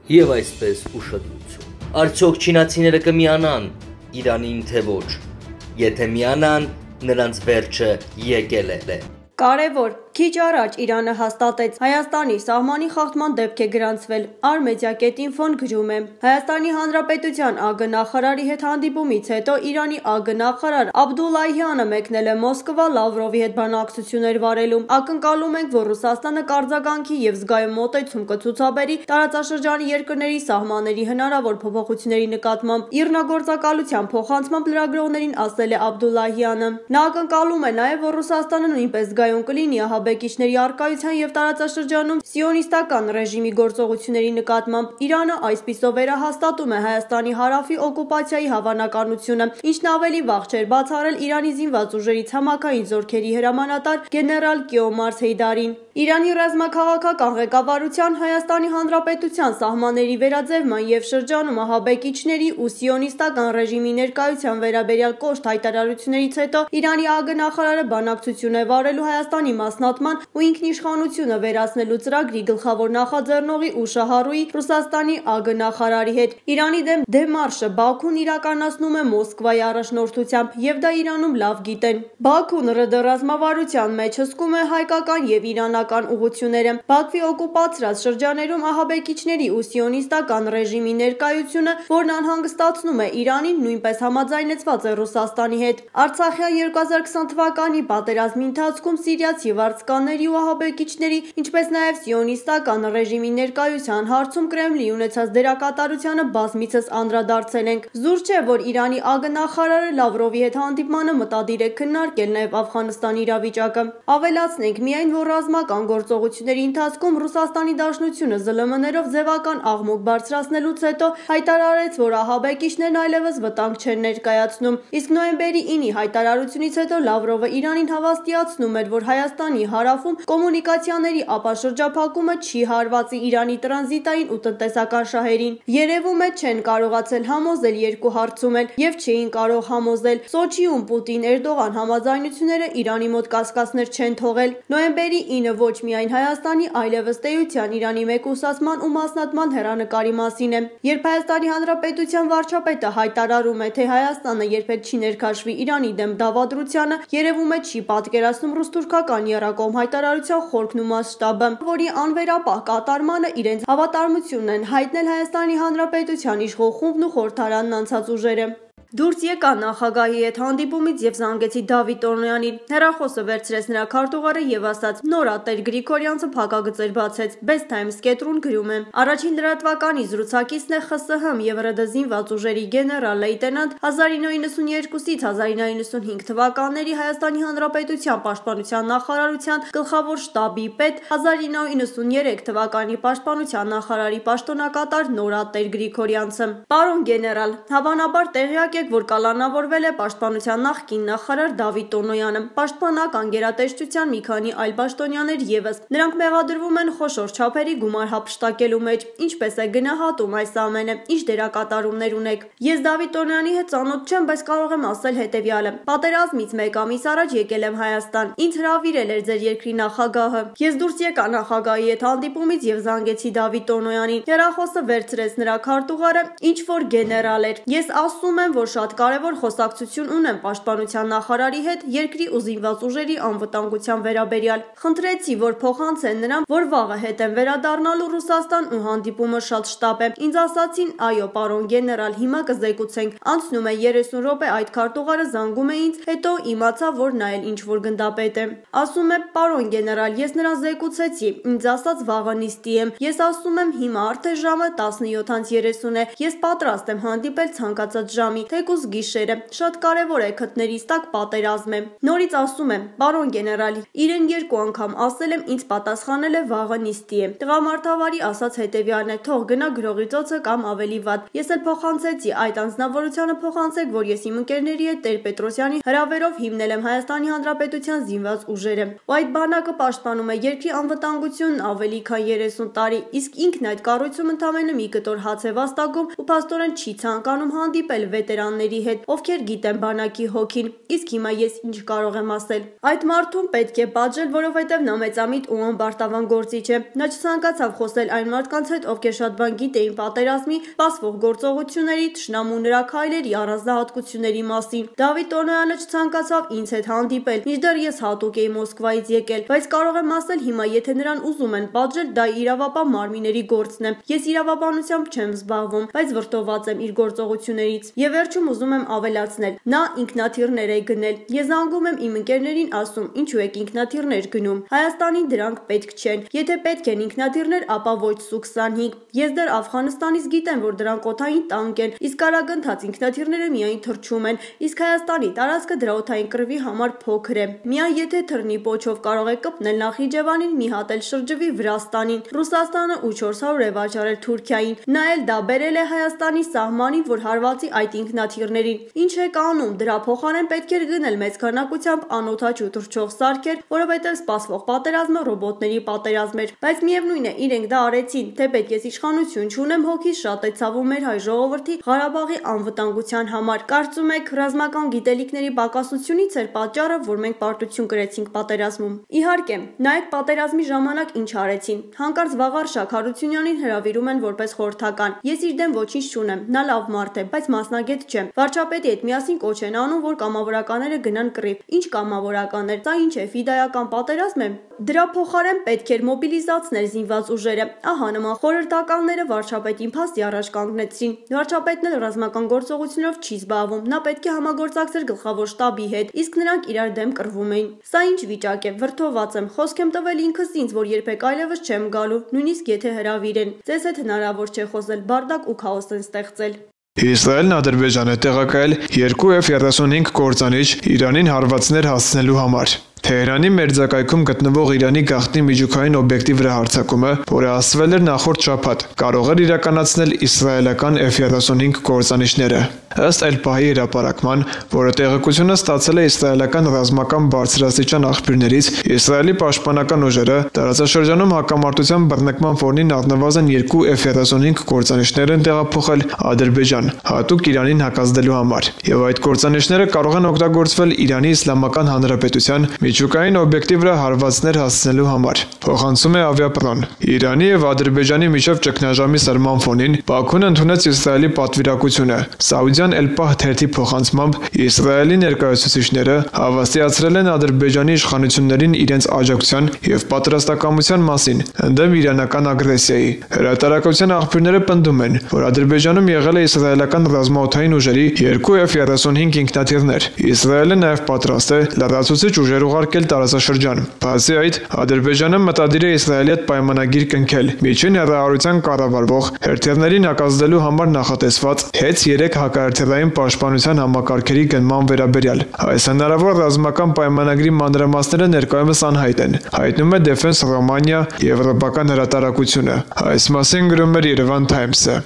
Եվ այսպես ուշադրություն։ Արդյոք չինացիները կմիանան Իրանին թե ոչ։ Եթե միանան, նրանց վերջը եկել է։ Կարևոր, քիչ առաջ Իրանը հաստատեց Հայաստանի սահմանի խախտման դեպք է գրանցվել։ Ar-Media.info-ն գրում է. Հայաստանի Հանրապետության ԱԳ նախարարի հետ հանդիպումից հետո Իրանի ԱԳ նախարար Աբդուլլահյանը մեկնել է Մոսկվա Լավրովի հետ բանակցություններ վարելու։ Ակնկալում ենք, որ Ռուսաստանը կարձագանքի եւ զգայուն մոտեցում կցուցաբերի տարածաշրջանի երկրների սահմանների հնարավոր փոփոխությունների նկատմամբ։ Իռնագործակալության փոխանցմամբ լրագրողներին ասել է Աբդուլլահյանը։ Նա ակնկալում է նաեւ, որ Ռուսաստանը նույնպես կլինի ահաբեկիչների առկայության եւ տարածաշրջանում սիոնիստական ռեժիմի գործողությունների նկատմամբ։ Իրանը այսպիսով վերահաստատում է Հայաստանի հարավի օկուպացիայի հավանականությունը, ինչն ավելի վաղ չէր բացառել Իրանի զինված ուժերի ցամաքային զորքերի հրամանատար գեներալ Կիոմարս Հեյդարին։ Իրանի ռազմաքաղաքական ղեկավարության Հայաստանի Հանրապետության սահմանների վերաձևման եւ շրջանում ահաբեկիչների ու սիոնիստական ռեժիմի ներկայության վերաբերյալ կոշտ հայտարարություններից հետո Իրանի ԱԳ նախարարը բանակցություն է վարելու Հայաստանի մասնատման ու ինքնիշխանությունը վերացնելու ծրագրի գլխավոր նախաձեռնողի ու շահառուի Ռուսաստանի ԱԳ նախարարի հետ։ Իրանի դեմ դեմարշը Բաքուն իրականացնում է Մոսկվայի առաջնորդությամբ եւ դա Իրանում լավ գիտեն։ Բաքուն ՌԴ ռազմավարության մեջ հսկում է հայկական եւ իրանական ուղղությունները։ Բաքվի օկուպացրած շրջաներում ահաբեկիչների ու սիոնիստական ռեժիմի ներկայությունը, որն անհանգստացնում է Իրանին, նույնպես համաձայնեցված է Ռուսաստանի հետ։ Արցախյան 2020 թվականի պատերազմի ընթացքում սիրիացի վարձկանների ու ահաբեկիչների, ինչպես նաև սիոնիստական ռեժիմի ներկայության հարցում Կրեմլի ունեցած դերակատարությանը բազմիցս անդրադարձել ենք։ Զուր չէ, որ Իրանի ԱԳ նախարարը Լավրովի հետ հանդիպմանը մտադիր է քննարկել նաև Աֆղանստանի իրավիճակը։ Ավելացնենք միայն, որ ռազմական գործողությունների ընթացքում Ռուսաստանի Դաշնությունը ԶԼՄ-ներով ձևական աղմուկ բարձրացնելուց հետո հայտարարեց, որ ահաբեկիչներն այլևս վտանգ չեն ներկայացնում։ Իսկ նոյեմբերի 9-ի հայտարարությունից հետո Լավրովը Իրանին հավաստիացնում էր, որ Հայաստանի հարավում կոմունիկացիաների ապաշրջափակումը չի հարվածի Իրանի տրանզիտային ու տնտեսական շահերին։ Երևում է չեն կարողացել համոզել երկու հարցում էլ եւ չէին կարող համոզել։ Սոչիում Պուտին-Էրդողան համաձայնությունները Իրանի մոտ կասկածներ չեն թողել։ Նոյեմբերի 9-ը ոչ միայն Հայաստանի, այլևս տեյության Իրանի մեկուսացման ու մասնատման հեռանկարի մասին է։ Երբ Հայաստանի Հանրապետության վարչապետը հայտարարում է, թե Հայաստանը երբեք չի ներքաշվի Իրանի դեմ դավադրությանը, երևում է չի պատկերացնում ռուս-թուրքական եռակողմ հայտարարության խորքն ու մասշտաբը, որի անվերապահ կատարմանը իրենց հավատարմությունն են հայտնել Հայաստանի Հանրապետության իշխող խումբն ու խորհրդարանն անցած ուժերը։ Դուրս եկա նախագահի հետ հանդիպումից եւ զանգեցի Դավիթ Տոնոյանին։ Հեռախոսը վերցրեց նրա քարտուղարը եւ ասաց. «Նորատեր Գրիգորյանցը փակագծեր բացեց»։ Best Times-ն գրում է. Առաջին լրատվականի զրուցակիցն է ԽՍՀՄ եւ ՌԴ զինված ուժերի գեներալ լեյտենանտ 1992-ից 1995 թվականների Հայաստանի Հանրապետության պաշտպանության նախարարության գլխավոր շտաբի պետ, 1993 թվականի պաշտպանության նախարարի պաշտոնակատար Նորատեր Գրիգորյանցը։ Պարոն գեներալ, հավանաբար տեղյակ եք, որ կալանավորվել է պաշտպանության նախկին նախարար Դավիթ Տոնոյանը, պաշտպանական գերատեսչության մի քանի այլ պաշտոնյաներ եւս։ Նրանք մեղադրվում են խոշոր չափերի գումար հափշտակելու մեջ։ Ինչպես է գնահատում այս ամենը, ինչ դերակատարումներ ունեք։ Ես Դավիթ Տոնոյանի հետ ծանոթ չեմ, բայց կարող եմ ասել հետեւյալը. պատերազմից մեկ ամիս առաջ եկել եմ Հայաստան։ Ինձ հրավիրել էր ձեր երկրի նախագահը։ Ես դուրս եկա նախագահի հետ հանդիպումից եւ զանգեցի Դավիթ Տոնոյանին։ Հեռախոսը վերցրեց նրա քարտուղարը, ինչ որ գեներալ էր։ Ես ասում եմ, որ շատ կարևոր խոսակցություն ունեմ պաշտպանության նախարարի հետ երկրի ու զինված ուժերի անվտանգության վերաբերյալ։ Խնդրեցի, որ փոխանցեն նրան, որ վաղը հետ եմ վերադառնալու Ռուսաստան ու հանդիպումը շատ շտապ է։ Ինձ ասացին, այո, պարոն գեներալ, հիմա կզեկուցենք։ Անցնում է 30 րոպե այդ քարտուղարը զանգում է ինձ, հետո իմացա, որ նա էլ ինչ որ գնդապետ է։ Ասում է, պարոն գեներալ, ես նրան զեկուցեցի, ինձ ասաց վաղը նիստի եմ։ Ես ասում եմ, հիմա արդեն ժամը 17:30 է։ Ես պատրաստ եմ հանդիպել ցանկացած ժամի, թեկուզ գիշերը։ Շատ կարևոր է քթներիս տակ պատերազմ է։ Նորից ասում եմ, պարոն գեներալ, իրեն 2 անգամ ասել եմ, ինձ պատասխանել է վաղը նիստի է։ Տղամարդավարի ասաց հետեւյալն է, թող գնա գրողի ծոցը կամ ավելի վատ։ Ես էլ փոխանցեցի այդ անձնավորությանը, փոխանցեք, որ ես իմ ընկերների հետ Տեր-Պետրոսյանի հրավերով հիմնել եմ Հայաստանի Հանրապետության զինված ուժերը։ Ու այդ բանակը պաշտպանում է երկրի անվտանգությունն ավելի քան 30 տարի, իսկ ինքն այդ կառույցում ընդամենը մի կտոր հաց է վաստակում ու փաստորեն չի ցանկանում հանդիպել վետերանների վետերանների հետ, ովքեր գիտեն բանակի հոգին, իսկ հիմա ես ինչ կարող եմ ասել։ Այդ մարդուն պետք է պատժել, որովհետև նա մեծամիտ ու անբարտավան գործիչ է։ Նա չցանկացավ խոսել այն մարդկանց հետ, ովքեր շատ բան գիտեին պատերազմի, սպասվող գործողությունների, թշնամու նրա քայլերի առանձնահատկությունների մասին։ Դավիթ Տոնոյանը չցանկացավ ինձ հետ հանդիպել, մինչդեռ ես հատուկ էի Մոսկվայից եկել, բայց կարող եմ ասել հիմա, եթե նրան ուզում են պատժել, դա իրավապահ մարմինների գործն է։ Ես իրավաբանությամբ չեմ զբաղվում, բայց վրդոված եմ իր գործողություններից։ Եվ վերջում ուզում եմ ավելացնել, նա ինքնաթիռներ է գնել։ Ես զանգում եմ իմ ընկերներին, ասում, ինչու եք ինքնաթիռներ գնում։ Հայաստանին դրանք պետք չեն։ Եթե պետք են ինքնաթիռներ, ապա ոչ Սու-25։ Ես դեռ Աֆղանստանից գիտեմ, որ դրանք օդային տանկ են, իսկ արագընթաց ինքնաթիռները միայն թռչում են, իսկ Հայաստանի տարածքը դրա օդային կռվի համար փոքր է։ Միայն եթե թռնի պոչով կարող է կպնել Նախիջևանին, մի հատ էլ շրջվի Վրաստանին, Ռուսաստանը ու 400 է վաճառել Թուրքիային։ Նա էլ դա բերել է Հայաստանի սահմանին, որ հարվածի այդ ինքնաթիռներին։ Ինչ եք անում, դրա փոխարեն պետք էր գնել մեծ քանակությամբ անօդաչու թռչող սարքեր, որովհետև սպասվող պատերազմը ռոբոտների պատերազմ էր, բայց միևնույն է, իրենք դա արեցին, թեպետ ես իշխանություն չունեմ, հոգիս շատ է ցավում մեր հայ ժողովրդի Ղարաբաղի անվտանգության համար։ Կարծում եք, ռազմական գիտելիքների պակասությունից էր պատճառը, որ մենք պարտություն կրեցինք պատերազմում։ Իհարկե, նայեք պատերազմի ժամանակ ինչ արեցին։ Հանկարծ Վաղարշակ Հարությունյանին հրավիրում են որպես խորհրդական։ Ես իր դեմ ոչինչ չունեմ, նա լավ մարդ է, բայց մասնագետ չէ։ Վարչապետի հետ միասին կոչ են անում, որ կամավորականները գնան կռիվ։ Ինչ կամավորականներ, սա ինչ է, ֆիդայական պատերազմ է։ Դրա փոխարեն պետք էր մոբիլիզացնել զինված ուժերը։ Ահա նման խորհրդականները վարչապետին փաստի առաջ կանգնեցրին։ Վարչապետն էլ ռազմական գործողություններով չի զբաղվում, նա պետք է համագործակցեր գլխավոր շտաբի հետ, իսկ նրանք իրար դեմ կռվում էին։ Սա ինչ վիճակ է, վրդոված եմ, խոսք եմ տվել ինքս ինձ, որ երբեք այլևս չեմ գալու, նույնիսկ եթե հրավիրեն։ Ձեզ հետ հնարավոր չէ խոսել, բարդակ ու քաոս են ստեղծել։ Իսրայելն Ադրբեջան է տեղակայել 2 F-35 կործանիչ Իրանին հարվածներ հասցնելու համար։ Թեհրանի մերձակայքում գտնվող Իրանի գաղտնի միջուկային օբյեկտի վրա հարձակումը, որը ասվել էր նախորդ շաբաթ, կարող էր իրականացնել իսրայելական F-35 կործանիչները։ Ըստ Էլ-Պահի հրապարակման, որը տեղեկությունը ստացել է իսրայելական ռազմական բարձրաստիճան աղբյուրներից, Իսրայելի պաշտպանական ուժերը տարածաշրջանում հակամարտության բռնկման ֆոնին առնվազն 2 F-35 կործանիչներ են տեղափոխել Ադրբեջան, հատուկ Իրանին հակազդելու համար, եւ այդ կործանիչները կարող են օգտագործվել Իրանի Իսլամական Հանրապետության միջուկային օբյեկտի վրա հարվածներ հասցնելու համար, փոխանցում է Ավիապրոն։ Իրանի եւ Ադրբեջանի միջև ճգնաժամի սրման ֆոնին Բաքուն ընդունեց Իսրայելի պատվիրակությունը։ Սաուդյան Էլ-Պահ թերթի փոխանցմամբ Իսրայելի ներկայացուցիչները հավաստիացրել են Ադրբեջանի իշխանություններին իրենց աջակցության եւ պատրաստակամության մասին ընդդեմ իրանական ագրեսիայի։ Հրատարակության աղբյուրները պնդում են, որ Ադրբեջանում եղել է իսրայելական ռազմաօդային ուժերի 2 F-35 ինքնաթիռներ։ Իսրայելը նաեւ պատրաստ է լրացուցիչ ուժեր ուղարկել տարածաշրջան։ Բացի այդ, Ադրբեջանը մտադիր է Իսրայելի հետ պայմանագիր կնքել միջին հեռահարության կառավարվող հերթիռներին հակազդելու համար նախատեսված HETS-3 հակահերթիռային պաշտպանության համակարգերի գնման վերաբերյալ։ Այս հնարավոր ռազմական պայմանագրի մանրամասները ներկայումս անհայտ են, հայտնում է Defense Romania եվրոպական հրատարակությունը։ Այս մասին գրում էր Yerevan Times-ը։